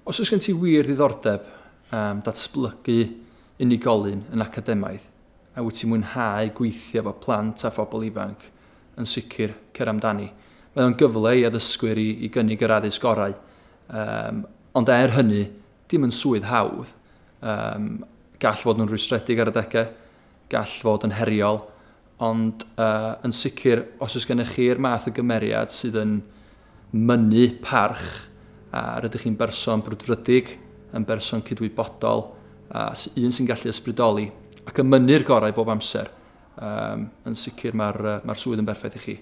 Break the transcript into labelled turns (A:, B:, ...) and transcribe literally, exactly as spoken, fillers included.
A: Os oes gen ti wir ddiddordeb um, datblygu unigolyn yn academaidd, a wyt ti'n mwynhau gweithio efo plant a phobl ifanc, yn sicr cer amdani. Mae o'n gyfle i addysgwyr i, i gynnig yr addysg gorau. Um, ond er hynny, dim yn swydd hawdd. Um, gall fod yn rwystredig ar adegau, gall fod yn heriol, ond uh, yn sicr, os oes gennych chi'r math o gymeriad sydd yn mynnu parch, a rydych chi'n berson brwdfrydig, yn berson cydwybodol, a un sy'n gallu ysbrydoli, ac yn mynnu'r gorau bob amser, um, yn sicr mae'r, mae'r swydd yn berffaith i chi.